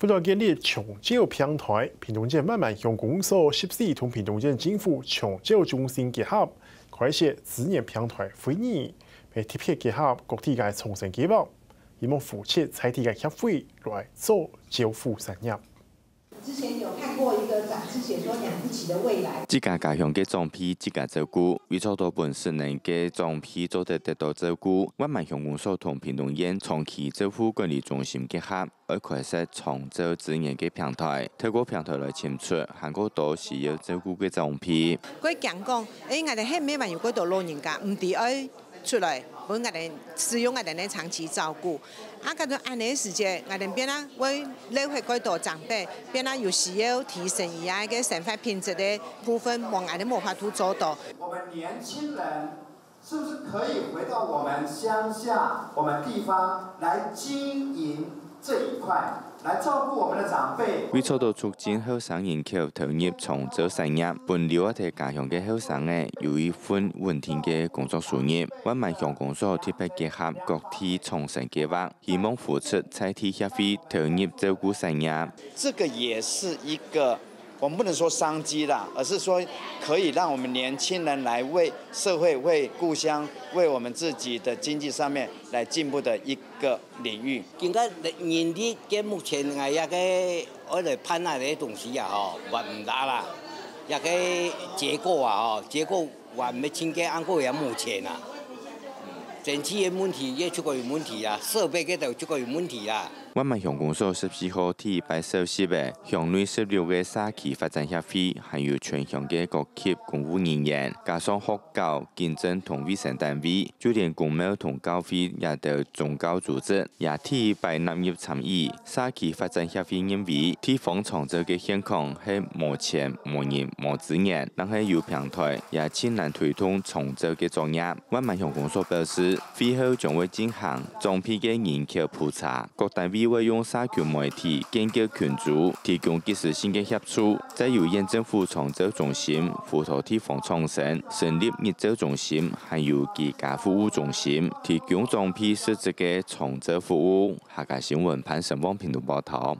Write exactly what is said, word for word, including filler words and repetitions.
為了建立長照平台，屏東縣萬巒鄉公所十四同屏東縣政府長照中心結合，開設資源平台會議，係特別結合各地个創新計畫，希望扶持在地个協會來做照護產業。之前有看過一個雜誌寫說養不起的未來。自家家鄉个長輩自家照顧，為做到分失能个長輩做得得到照顧，萬巒鄉公所同屏東縣長期照護管理中心結合， 愛開設長照資源个平台，透過平台來尋出還過多需要照顧个長輩。佢驚講，誒，𠊎兜係毋係還有幾多老人家毋知愛出來，分𠊎兜使用𠊎兜个長期照顧。啊，該種恁呢个時節，𠊎兜變啊會留下幾多長輩，變啊有需要提升佢个生活品質个部分，望𠊎兜無法度做到。我们年轻人 是不是可以回到我们乡下、我们地方来经营这一块，来照顾我们的长辈？為做到促進後生人口投入長照產業，分留在家鄉个後生仔有一份穩定个工作收入，萬巒鄉公所特別結合各地創新計畫，希望扶持在地協會投入照顧產業。这个也是一个，我们不能说商机啦，而是说可以让我们年轻人来为社会、为故乡、为我们自己的经济上面来进步的一个领域。今个人力个目前，𠊎个个爱来办啊个东西啊吼，还毋大啦，也个结构啊吼，结构还没清个，安过也目前啊。整体个问题也出个有问题啊，设备个都出个有问题啊。万巒乡公所十四号第一擺設立个鄉內十六个社區發展協會，還有全鄉个各級公務人員，加上學校、警政同衛生單位，就連公廟同教會也等宗教組織，也第一擺納入參與。社區發展協會認為，地方長照个現況係無錢、無人、無資源，但係有平台，也盡難推動長照个作業。萬巒鄉公所表示，會後將會進行 長輩个人口普查，各單位會用社群媒體建構群組，提供即時性个協助，再由縣政府長照中心輔導地方創生，成立日照中心，還有居家服務中心，提供長輩實質个長照服務。客家新聞潘成旺屏東報導。